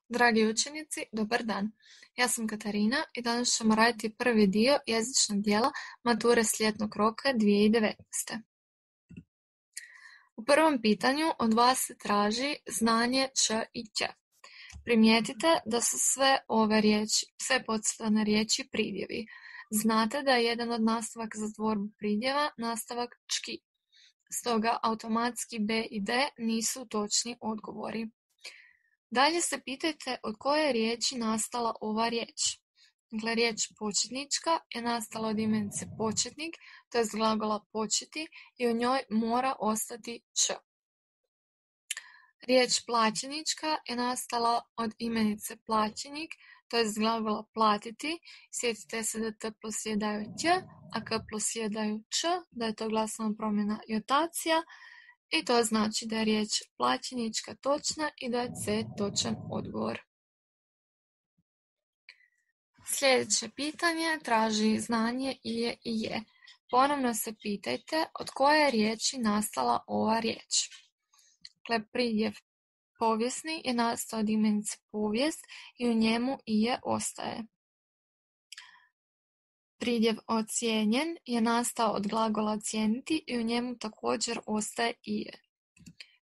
Dragi učenici, dobar dan. Ja sam Katarina i danas ćemo raditi prvi dio jezičnog dijela mature s ljetnog roka 2019. U prvom pitanju od vas se traži znanje č i ć. Primijetite da su sve podcrtane riječi pridjevi. Znate da je jedan od nastavaka za tvorbu pridjeva nastavak čki. Stoga automatski b i d nisu točni odgovori. Dalje se pitajte od koje je riječi nastala ova riječ. Dakle, riječ početnička je nastala od imenice početnik, to je glagola početi i u njoj mora ostati č. Riječ plaćenička je nastala od imenice plaćenik, to je glagola platiti. Sjetite se da t plus je daju ć, a k plus je daju č, da je to glasovna promjena i otacija. I to znači da je riječ plaćenička točna i da je C točan odgovor. Sljedeće pitanje traži znanje i je. Ponovno se pitajte od koje je riječi nastala ova riječ. Dakle, pridjev povijesni je nastao od imenice povijest i u njemu i je ostaje. Pridjev ocijenjen je nastao od glagola ocijeniti i u njemu također ostaje i je.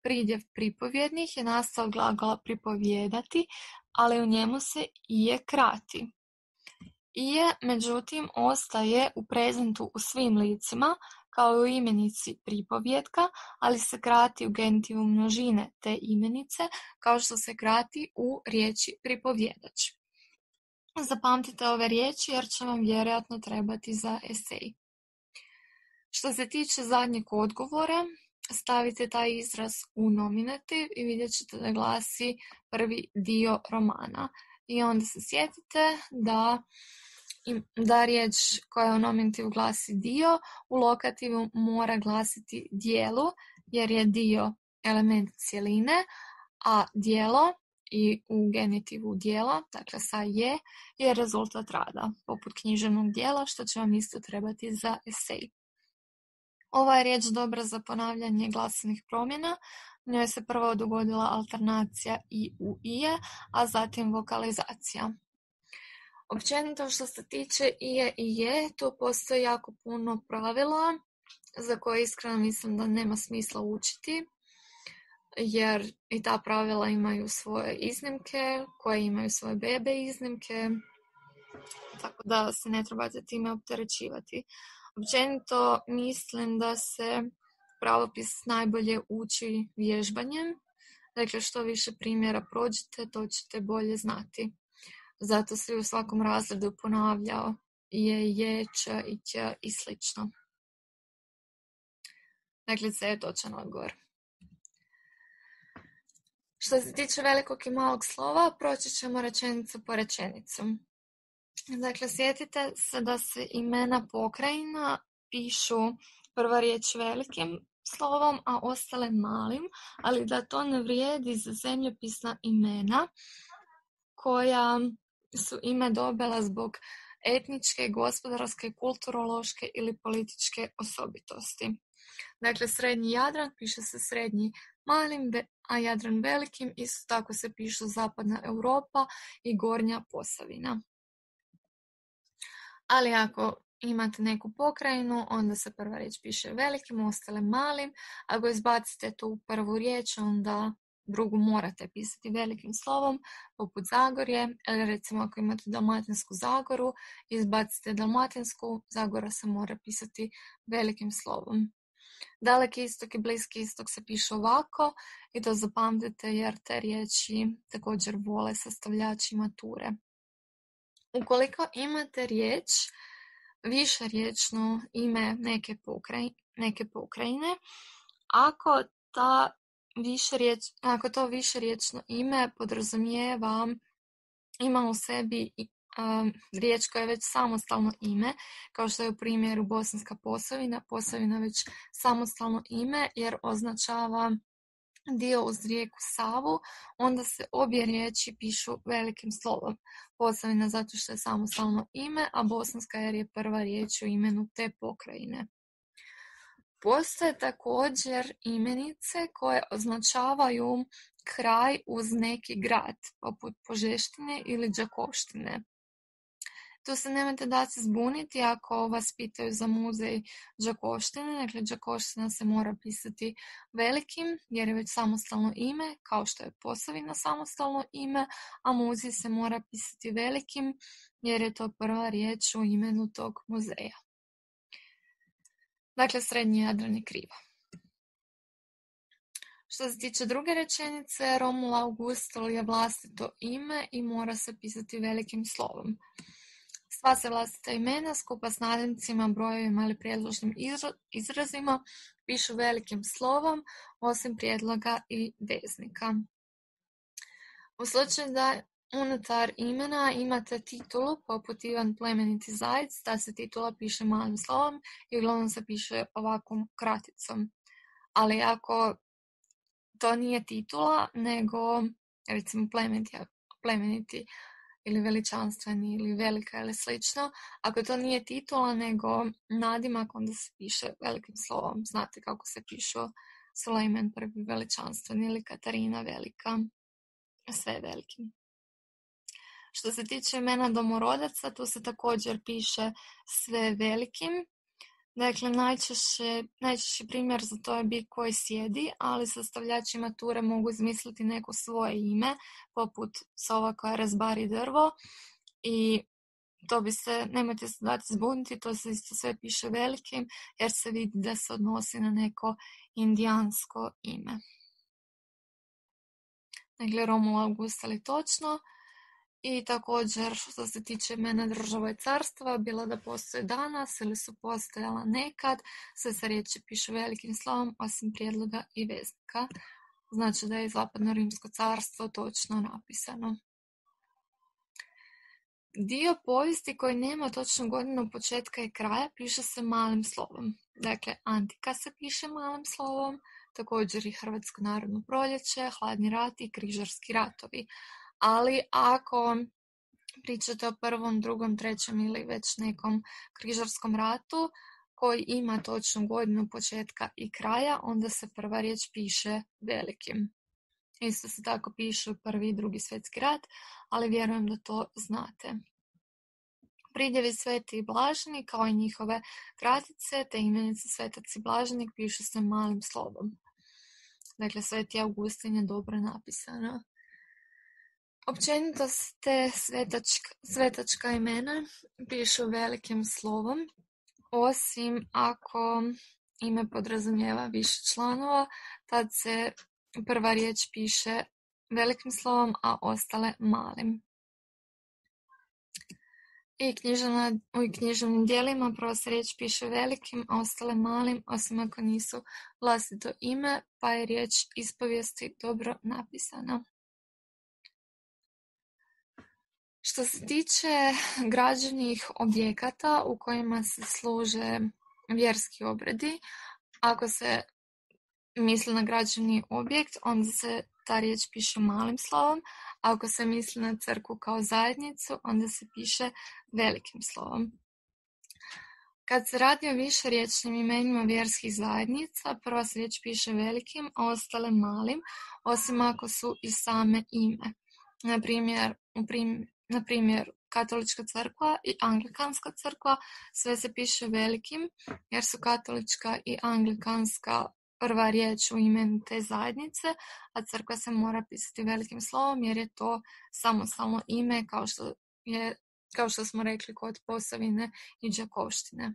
Pridjev pripovjednih je nastao od glagola pripovijedati, ali u njemu se i je krati. I je, međutim, ostaje u prezentu u svim licima, kao i u imenici pripovjetka, ali se krati u genitivu množine te imenice, kao što se krati u riječi pripovjedač. Zapamtite ove riječi jer će vam vjerojatno trebati za esej. Što se tiče zadnjeg odgovora, stavite taj izraz u nominativ i vidjet ćete da glasi prvi dio romana. I onda se sjetite da riječ koja u nominativu glasi dio, u lokativu mora glasiti dijelu, jer je dio element cjeline, a dijelo i u genitivu dijela, dakle sa je rezultat rada, poput književnog dijela, što će vam isto trebati za esej. Ova je riječ dobra za ponavljanje glasanih promjena. U njoj se prvo dogodila alternacija i u ije, a zatim vokalizacija. Općenito što se tiče ije i je, tu postoji jako puno pravila za koje iskreno mislim da nema smisla učiti, jer i ta pravila imaju svoje iznimke, koje imaju svoje bebe iznimke, tako da se ne trebate time opterećivati. Općenito mislim da se pravopis najbolje uči vježbanjem, dakle što više primjera prođete, to ćete bolje znati. Zato se u svakom razredu ponavljao je, č i ć i slično. Dakle, C je točan odgovor. Što se tiče velikog i malog slova, proći ćemo rečenicu po rečenicu. Dakle, sjetite se da se imena pokrajina pišu prva riječ velikim slovom, a ostale malim, ali da to ne vrijedi za zemljopisna imena koja su ime dobila zbog etničke, gospodarske, kulturološke ili političke osobitosti. Dakle, srednji Jadran piše se srednji malim, a Jadran velikim, isto tako se pišu zapadna Europa i gornja Posavina. Ali ako imate neku pokrajinu, onda se prva riječ piše velikim, ostale malim. Ako izbacite tu prvu riječ, onda drugu morate pisati velikim slovom, poput Zagorje, ili recimo ako imate Dalmatinsku Zagoru, izbacite Dalmatinsku, Zagora se mora pisati velikim slovom. Daleki istok i bliski istok se piše ovako i to zapamtite jer te riječi također vole sastavljači mature. Ukoliko imate riječ, višeriječno ime neke pokrajine, ako to višeriječno ime podrazumijeva, ima u sebi riječ koja je već samostalno ime, kao što je u primjeru Bosanska Posavina, Posavina već samostalno ime jer označava dio uz rijeku Savu, onda se obje riječi pišu velikim slovom. Posavina zato što je samostalno ime, a Bosanska jer je prva riječ u imenu te pokrajine. Postoje također imenice koje označavaju kraj uz neki grad, poput Požeštine ili Đakovštine. Tu se nemojte da se zbuniti ako vas pitaju za muzej Đakovštine. Dakle, Đakovština se mora pisati velikim jer je već samostalno ime, kao što je Posavina samostalno ime, a muzej se mora pisati velikim jer je to prva riječ u imenu tog muzeja. Dakle, Srednji Jadran je krivo. Što se tiče druge rečenice, Romul Augustul je vlastito ime i mora se pisati velikim slovom. Sva se vlastita imena skupa s nadimcima, brojevima ili prijedložnim izrazima pišu velikim slovom, osim prijedloga i veznika. U slučaju da unutar imena imate titulu, poput Ivan Plemeniti Zajec, ta se titula piše malim slovom i uglavnom se piše ovakvom kraticom. Ali ako to nije titula, nego recimo plemeniti ili veličanstveni ili velika ili slično, ako to nije titula nego nadimak, onda se piše velikim slovom. Znate kako se pišu Sulejman prvi veličanstveni ili Katarina velika, sve velikim. Što se tiče imena domorodaca, tu se također piše sve velikim. Dakle, najčešći primjer za to je bik koji sjedi, ali sastavljači mature mogu izmisliti neko svoje ime, poput sova koja razbari drvo, i to nemojte se dati zbuniti, to se isto sve piše velikim, jer se vidi da se odnosi na neko indijansko ime. Dakle, Romul Augustul je točno. I također, što se tiče imena država i carstva, bilo da postoje danas ili su postojala nekad, sve se riječi pišu velikim slovom, osim prijedloga i veznika. Znači da je Zapadno Rimsko carstvo točno napisano. Dio povijesti koji nema točnu godinu početka i kraja piše se malim slovom. Dakle, Antika se piše malim slovom, također i Hrvatsko narodno proljeće, Hladni rat i Križarski ratovi. Ali ako pričate o prvom, drugom, trećem ili već nekom križarskom ratu koji ima točnu godinu početka i kraja, onda se prva riječ piše velikim. Isto se tako pišu Prvi i Drugi svjetski rat, ali vjerujem da to znate. Pridjevi Sveti i Blaženi, kao i njihove kratice, te imenice Svetac i Blaženik pišu se malim slovom. Dakle, Sveti Augustin je dobro napisano. Općenito te svetačka imena pišu velikim slovom, osim ako ime podrazumijeva više članova, tad se prva riječ piše velikim slovom, a ostale malim. I u književnim dijelima prva se riječ piše velikim, a ostale malim, osim ako nisu vlastito ime, pa je riječ ispovijesti dobro napisana. Što se tiče građevnih objekata u kojima se služe vjerski obredi, ako se misli na građevni objekt, onda se ta riječ piše malim slovom, a ako se misli na crkvu kao zajednicu, onda se piše velikim slovom. Kad se radi o višeriječnim imenima vjerskih zajednica, prva se riječ piše velikim, a ostale malim, osim ako su i same ime. Na primjer, Katolička crkva i Anglikanska crkva sve se piše velikim, jer su Katolička i Anglikanska prva riječ u imenu te zajednice, a crkva se mora pisati velikim slovom jer je to samostalno ime, kao što smo rekli kod Posavine i Đakovštine.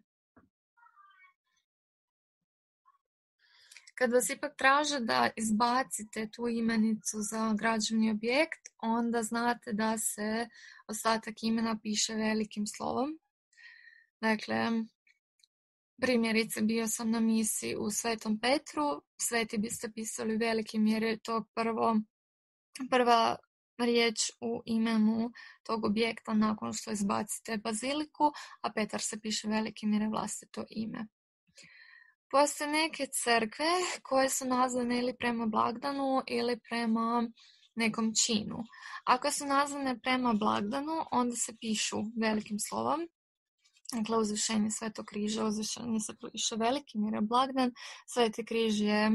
Kad vas ipak traže da izbacite tu imenicu za građevni objekt, onda znate da se ostatak imena piše velikim slovom. Dakle, primjerice, bio sam na misi u Svetom Petru, sveti biste pisali velikim jer je to prva riječ u imenu tog objekta nakon što izbacite baziliku, a Petar se piše velikim jer je vlastito ime. Postoje neke crkve koje su nazvane ili prema blagdanu ili prema nekom činu. Ako su nazvane prema blagdanu, onda se pišu velikim slovom. Dakle, uzvišenje Svetog križa, uzvišenje se piše velikim jer je blagdan. Sveti križ je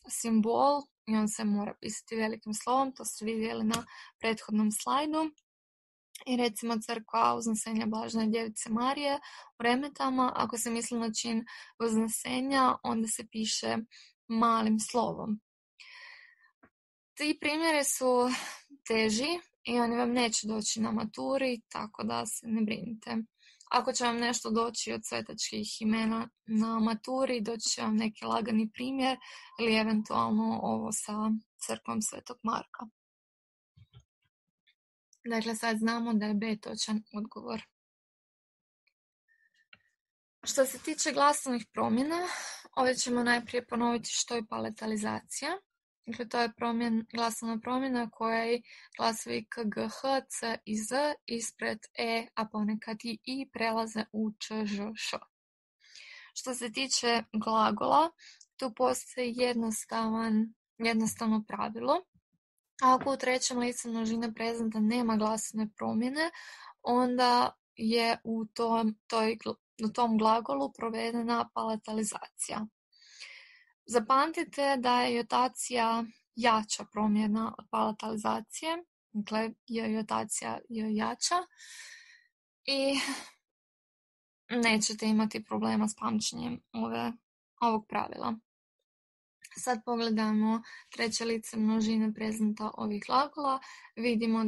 simbol i on se mora pisati velikim slovom, to ste vidjeli na prethodnom slajdu. I recimo crkva Uznesenja Blažene Djevice Marije u Remetama, ako se misli na čin uznesenja, onda se piše malim slovom. Ti primjeri su teži i oni vam neće doći na maturi, tako da se ne brinite. Ako će vam nešto doći od svetačkih imena na maturi, doći će vam neki lagani primjer ili eventualno ovo sa crkvom Svetog Marka. Dakle, sad znamo da je B točan odgovor. Što se tiče glasovnih promjena, ovdje ćemo najprije ponoviti što je palatalizacija. Dakle, to je glasovna promjena koja glasovi K, G, H, C i Z ispred E, a ponekad i I prelaze u Č, Ž, Š. Što se tiče glagola, tu postoji jednostavno pravilo. Ako u trećem licu množine prezenta nema glasovne promjene, onda je u tom glagolu provedena palatalizacija. Zapamtite da je jotacija jača promjena od palatalizacije, dakle jotacija je jača i nećete imati problema s pamćenjem ovog pravila. Sad pogledamo treće lice množine prezenta ovih glagola. Vidimo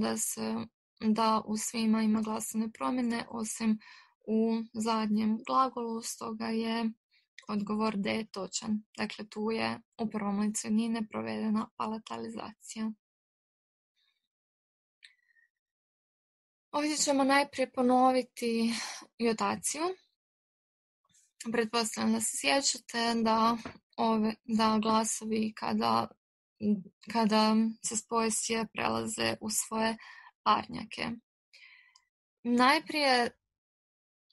da u svima ima glasovne promjene osim u zadnjem glagolu, stoga je odgovor D točan. Dakle, tu je u prvom licu jednine provedena palatalizacija. Ovdje ćemo najprije ponoviti jotaciju. Pretpostavljam da se sjećate da glasovi kada se spoje sje prelaze u svoje parnjake.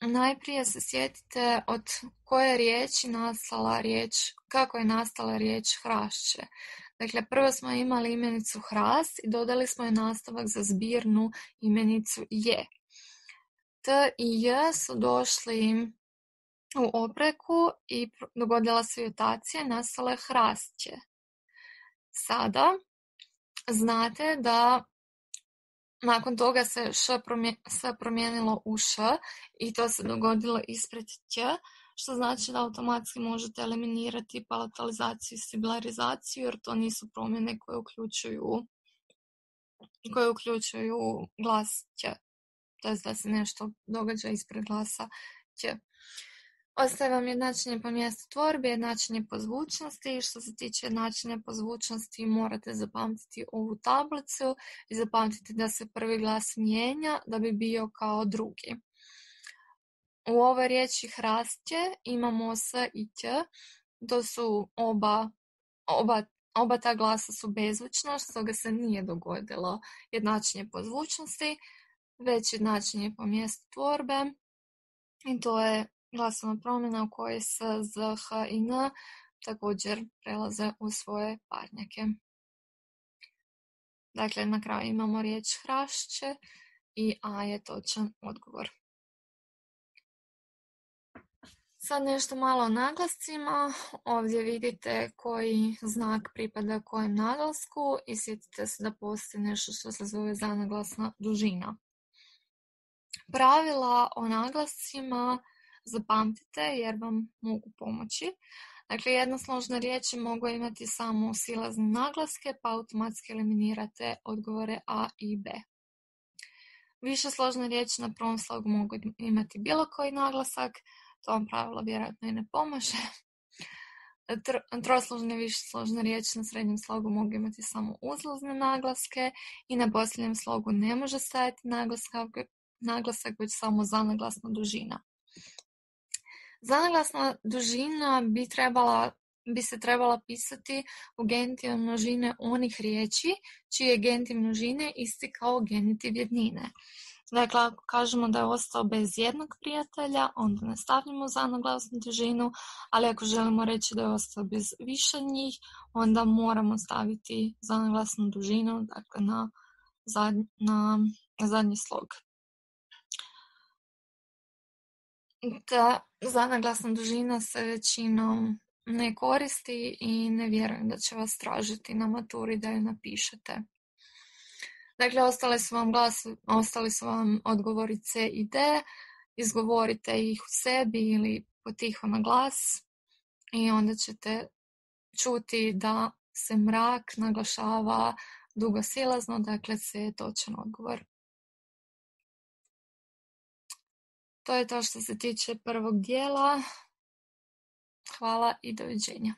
Najprije se sjetite od koje riječi nastala riječ, kako je nastala riječ hrašće. Dakle, prvo smo imali imenicu hrast i dodali smo je nastavak za zbirnu imenicu je. T i j su došli u opreku i dogodila se jotacija, nastala je hrastće. Sada znate da nakon toga se sve promijenilo u š i to se dogodilo ispred ć, što znači da automatski možete eliminirati palatalizaciju i sibilarizaciju, jer to nisu promjene koje uključuju glas ć, to je da se nešto događa ispred glasa ć. Ostaje vam jednačenje po mjestu tvorbe, jednačenje po zvučnosti. Što se tiče jednačenja po zvučnosti, morate zapamtiti ovu tablicu i zapamtiti da se prvi glas mijenja da bi bio kao drugi. U ovoj riječi hrastće imamo s i ć, to su oba ta glasa su bezvučna, stoga se nije dogodilo jednačenje po zvučnosti, već jednačenje po mjestu tvorbe i to je glasovna promjena u kojoj s, z, h i n također prelaze u svoje parnjake. Dakle, na kraju imamo riječ hrašće i a je točan odgovor. Sad nešto malo o naglascima. Ovdje vidite koji znak pripada kojem naglasku i sjetite se da postoji nešto što se zove zanaglasna dužina. Pravila o naglascima zapamtite jer vam mogu pomoći. Dakle, jednosložne riječi mogu imati samo silazne naglaske, pa automatski eliminirate odgovore A i B. Višesložne riječi na prvom slogu mogu imati bilo koji naglasak, to vam pravilo vjerojatno i ne pomaže. Trosložne i višesložne riječi na srednjem slogu mogu imati samo uzlazne naglaske i na posljednjem slogu ne može stajati naglasak, već samo zanaglasna dužina. Zanaglasna dužina bi se trebala pisati u genitiv množine onih riječi čiji je genitiv množine isti kao genitiv jednine. Dakle, ako kažemo da je ostao bez jednog prijatelja, onda ne stavljamo zanaglasnu dužinu, ali ako želimo reći da je ostao bez više njih, onda moramo staviti zanaglasnu dužinu, dakle na zadnji slog. Ta zanaglasna dužina se većinom ne koristi i ne vjerujem da će vas tražiti na maturi da ju napišete. Dakle, ostali su vam odgovori C i D, izgovorite ih u sebi ili potiho na glas i onda ćete čuti da se mrak naglašava dugosilazno, dakle C je točan odgovor. To je to što se tiče prvog dijela. Hvala i doviđenja.